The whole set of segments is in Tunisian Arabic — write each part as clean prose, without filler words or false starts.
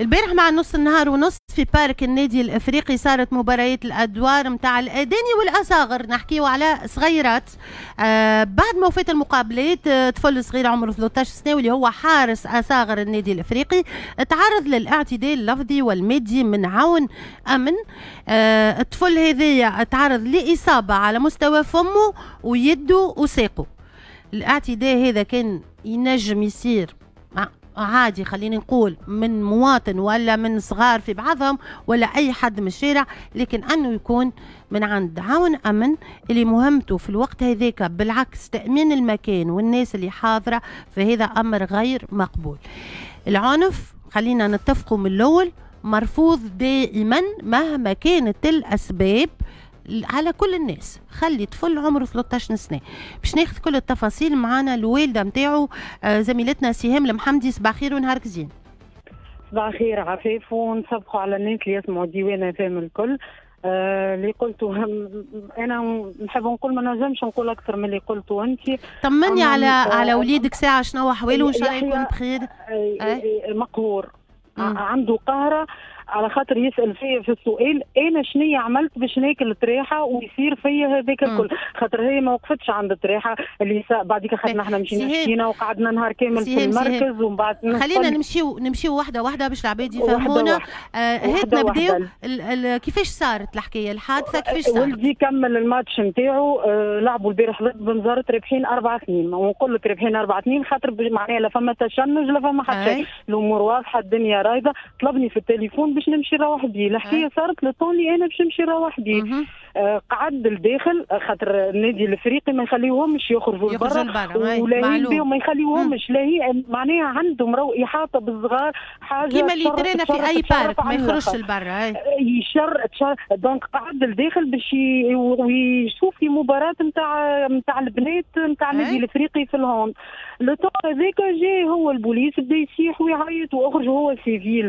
البارح مع نص النهار ونص في parc النادي الافريقي صارت مباريات الادوار نتاع الاداني والاصاغر، نحكيو على صغيرات. بعد ما وفات المقابلات، طفل صغير عمره 13 سنة واللي هو حارس اصاغر النادي الافريقي تعرض للاعتداء اللفظي والمادي من عون امن. الطفل هذايا تعرض لاصابة على مستوى فمه ويده وساقه. الاعتداء هذا كان ينجم يصير عادي، خليني نقول من مواطن ولا من صغار في بعضهم ولا اي حد من الشارع، لكن انه يكون من عند عون امن اللي مهمته في الوقت هذاك بالعكس تامين المكان والناس اللي حاضره، فهذا امر غير مقبول. العنف خلينا نتفقوا من الاول مرفوض دائما مهما كانت الاسباب على كل الناس. خلي طفل عمره 13 سنة. باش ناخذ كل التفاصيل معنا الوالدة نتاعو، زميلتنا سهام المحمدي. صباح خير ونهارك زين. صباح خير عفيف، ونصبحوا على الناس اللي يسمعوا ديوان فهم الكل. اللي قلته انا نحب نقول ما نجمش نقول اكثر من اللي قلته انت. طمني على وليدك ساعة، شنو احواله وان شاء الله يكون بخير؟ مقهور، عنده قهره على خاطر يسال فيا في السؤال انا شنية عملت باش ناكل طريحه ويصير فيا هذاك الكل، خاطر هي ما وقفتش عند الطريحه اللي بعديك خاطر احنا مشينا شكينا وقعدنا نهار كامل في المركز ومن بعد خلينا نمشيو واحدة واحدة باش العباد يفهمونا. هات نبداو كيفاش صارت الحكاية، الحادثة كيفاش صارت؟ ولدي كمل الماتش نتاعو، لعبوا البارح ضد بنزرت رابحين 4-2، ونقول لك رابحين 4-2 خاطر معناها لا فما تشنج لا فما حتى شيء، الامور واضحة الدنيا رايضه. طلبني في التليفون باش نمشي نروح بيه، الحكاية صارت le temps اللي انا باش نمشي نروح بيه. قعد لداخل خاطر النادي الافريقي ما يخليوهمش يخرجوا لبرا ولا بيهم، ما يخليوهمش لا هي معناها عندهم رو احاطة بالصغار حاجة كيما اللي ترينا في اي parc ما يخرجش لبرا. يشر donc قعد لداخل باش ويشوف في مباراة نتاع البنات نتاع النادي الافريقي في ال hand. le temps هذاك جاي هو البوليس بدا يصيح ويعيط واخرج، هو civil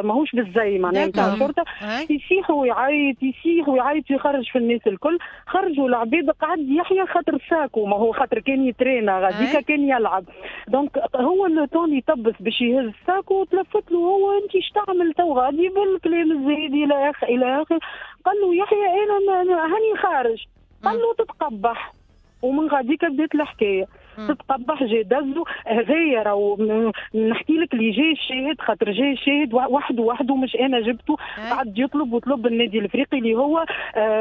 ماهوش بالزي معناها نتاع الشرطة، يصيح ويعيط يصيح ويعيط ويخرج في الناس الكل. خرجوا العباد، قعد يحيى خاطر ساكو، ما هو خاطر كان يترينا غاديكا كان يلعب، donc هو le temps يطبس باش يهز ساكو وتلفت له هو انت اش تعمل تو غادي بالكلام الزايد الى اخر الى اخر. قال له يحيى انا هاني خارج، قال له تتقبح، ومن غاديك بدات الحكاية. تتقبح جا دزو هذايا راهو نحكي لك اللي جاي الشاهد، خاطر جاي الشاهد وحده مش انا جبته، قعد يطلب وطلب النادي الافريقي اللي هو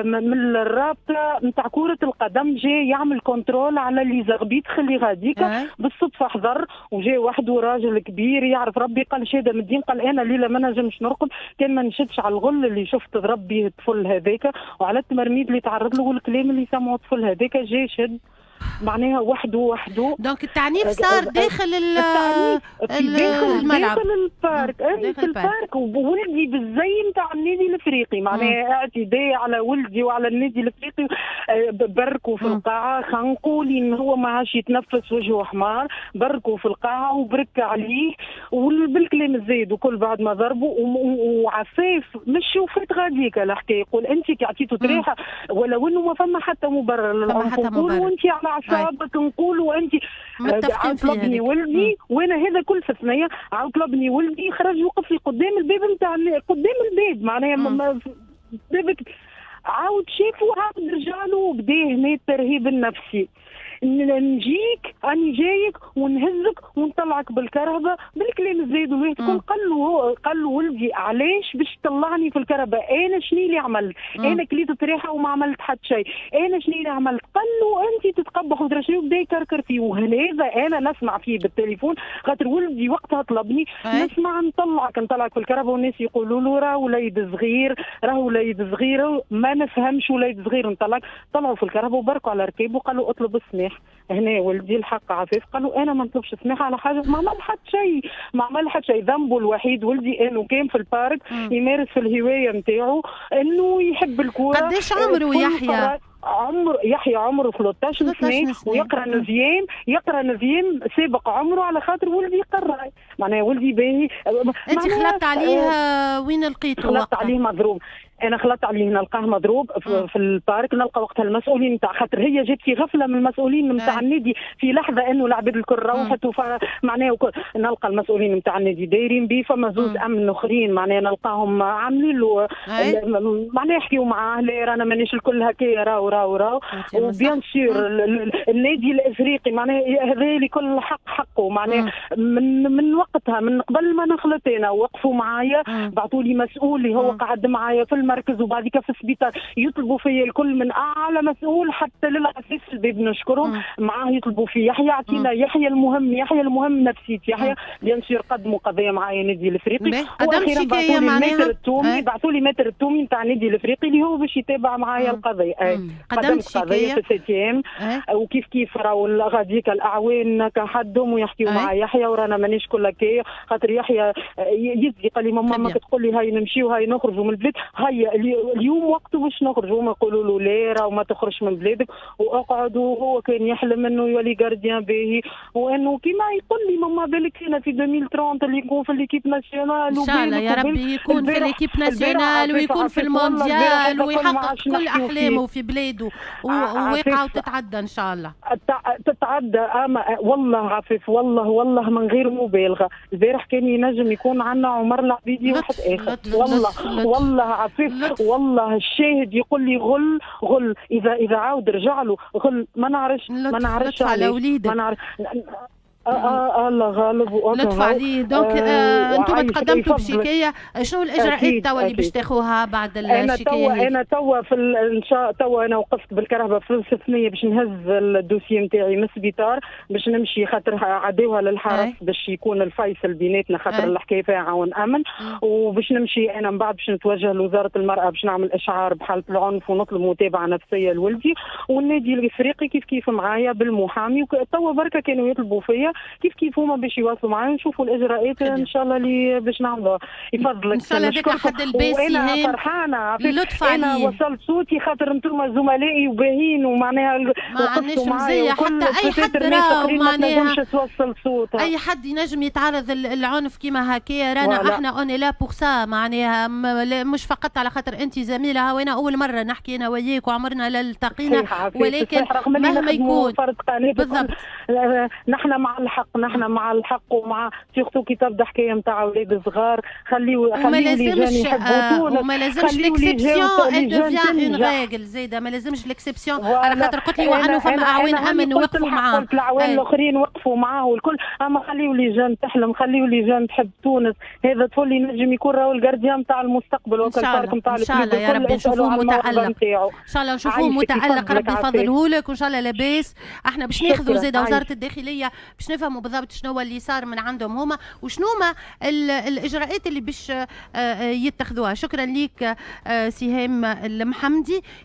من الرابطة نتاع كره القدم جاي يعمل contrôle على les arbitres اللي غاديك. بالصدفة حضر وجاي وحده راجل كبير يعرف ربي، قال شهادة من الدين، قال انا الليلة ما نجمش نرقد كان ما نشدش على الغل اللي شفت ضرب به الطفل هذاك وعلى التمرميد اللي تعرض له والكلام اللي سمعه الطفل هذاك. جاي شد معناها وحده. donc التعنيف صار داخل الملعب، داخل ال parc، في ال parc، وولدي بالزي نتاع النادي الافريقي معناها اعتداء على ولدي وعلى النادي الافريقي. بركوا في القاعة، خنقوا لان هو ما عادش يتنفس وجهه حمار، بركوا في القاعة وبرك عليه وبالكلام الزايد وكل بعد ما ضربوا. وعفاف مش وفات غاديك الحكاية، يقول انت كي عطيته طريحه ولو انه ما فما حتى مبرر للعنف، نقولوا انت على اعصابك، نقولوا انت طلبني ولدي وانا هذا كل في ثنيه، عاود طلبني ولدي خرج وقف لي قدام الباب نتاع قدام الباب معناها بابك، عاود شافوا عاود رجع له وبدا هنا الترهيب النفسي، نجيك راني جايك ونهزك ونطلعك بالكرهبه بالكلام الزايد والواحد. قال له ولدي علاش باش تطلعني في الكرهبه؟ انا شنو اللي عملت؟ انا كليت طريحه وما عملت حتى شيء، انا شنو اللي عملت؟ قال له انت تتقبح ودرا شنو، بدا يكركر فيه. وهذا انا نسمع فيه بالتليفون خاطر ولدي وقتها طلبني، نسمع نطلعك في الكرهبه والناس يقولوا له راه وليد صغير، راه وليد صغير، ما نفهمش وليد صغير نطلعك. طلعوا في الكرهبه وبركوا على ركابه وقالوا اطلب السماح. هنا ولدي الحق عفيف قالوا انا ما نطلبش سماح على حاجة، ما عمل حتى شيء، ما عمل حتى شيء. ذنبه الوحيد ولدي انه كان في ال parc يمارس في الهواية نتاعو، انه يحب الكورة. قداش عمره يحيى؟ عمر يحيى عمره 13 سنة ويقرا neuvième، يقرا neuvième سابق عمره على خاطر ولدي يقرا معناها ولدي باهي. انت خلطت عليه وين لقيته؟ خلطت عليه مضروب. انا خلطت عليه نلقاه مضروب في ال parc، نلقى وقتها المسؤولين نتاع، خاطر هي جات في غفلة من المسؤولين نتاع النادي في لحظة انه العباد الكل روحت، معناها نلقى المسؤولين نتاع النادي دايرين بيه، فما زوز امن اخرين معناها نلقاهم عاملين له معناها يحكيوا معاه، لا رانا مانيش الكل هكايا، راهو راهو راهو. و bien sûr النادي الافريقي معناها هذا لكل حق حقه، معناها من وقتها من قبل ما نخلط انا وقفوا معايا، بعثوا لي مسؤول اللي هو قعد معايا في المركز وبعد في السبيطار، يطلبوا فيا الكل من اعلى مسؤول حتى للعساس الباب نشكرهم معاه، يطلبوا في يحيى اعطينا يحيى، المهم يحيى، المهم نفسية يحيى. bien sûr قدموا قضية معايا النادي الافريقي، واخيرا بعثوا لي maître التومي، بعثوا لي maître التومي نتاع النادي الافريقي اللي هو باش يتابع معايا القضيه. قدمت قضية في ال septième، وكيف كيف راهو غاديك الاعوان كحدهم ويحكيوا مع يحيى، ورانا مانيش كل هكايا، خاطر يحيى يزي قال لي ماما ما تقول لي هاي نمشيو هاي نخرجوا من البلاد، هيا اليوم وقته باش نخرجوا، هما يقولوا له لا راهو ما تخرجش من بلادك واقعد، وهو كان يحلم انه يولي gardien باهي، وانه كيما يقول لي ماما بالك انا في 2030 اللي يكون في l'équipe nationale. ان شاء الله يا ربي يكون في l'équipe nationale ويكون في المونديال ويحقق كل احلامه في بلاده، وواقعه وتتعدى ان شاء الله. تتعدى، اما والله عفيف والله والله من غير مبالغه، البارح كان ينجم يكون عندنا عمر العبيدي واحد اخر، والله والله عفيف والله الشاهد يقول لي غل غل، اذا عاود رجع له غل، ما نعرفش ما نعرفش على وليدك، ما نعرف الله غالب. لطف عليه. donc انتم تقدمتوا بشكايه، شنو الاجراءات توا اللي باش تاخوها بعد الشكاية؟ انا توا في ان شاء توا انا وقفت بالكرهبه في الثنية باش نهز ال dossier نتاعي من السبيطار باش نمشي، خاطر عداوها للحرس باش يكون الفيصل بيناتنا، خاطر الحكاية فيها عون امن، وباش نمشي انا من بعد باش نتوجه لوزارة المراة باش نعمل اشعار بحاله العنف ونطلب متابعه نفسية لولدي، والنادي الافريقي كيف كيف معايا بالمحامي، توا بركة كانوا يطلبوا فيا كيف كيف هما باش يواصلوا معايا ونشوفوا الاجراءات ان شاء الله اللي باش نعملوها. يفضلك ان شاء الله ذاك حد الباس. وانا فرحانة لطف انا وصلت صوتي خاطر انتم زملائي وباهين ومعناها ما عندناش مزية حتى اي حد راهو معناها توصل صوتها، اي حد ينجم يتعرض العنف كيما هكايا، رانا احنا on est là pour ça، معناها مش فقط على خاطر انت زميله، وانا اول مرة نحكي انا وياك وعمرنا لا التقينا، ولكن مهما يكون بالضبط نحن مع الحق، نحن مع الحق ومع surtout كي تبدا حكاية نتاع اولاد صغار، خليو وما لازمش وما لازمش l'exception elle devient une règle زايدة، ما لازمش l'exception على خاطر قلت لي وانه فما اعوان امن وقفوا معاه، قلت الاعوان الاخرين وقفوا معاه والكل، اما خليو les jeunes تحلم، خليو les jeunes تحب تونس، هذا طفل ينجم يكون راهو ال gardien نتاع المستقبل وكل ال parc نتاع ان شاء الله يا ربي نشوفوه متالق، ان شاء الله نشوفوه متالق، ربي يفضله لك وان شاء الله لاباس. احنا باش ناخذوا زاده وزارة الداخلية باش نفهموا بالضبط شنو اللي صار من عندهم هما وشنو ما الاجراءات اللي باش يتخذوها. شكرا لك سهام المحمدي.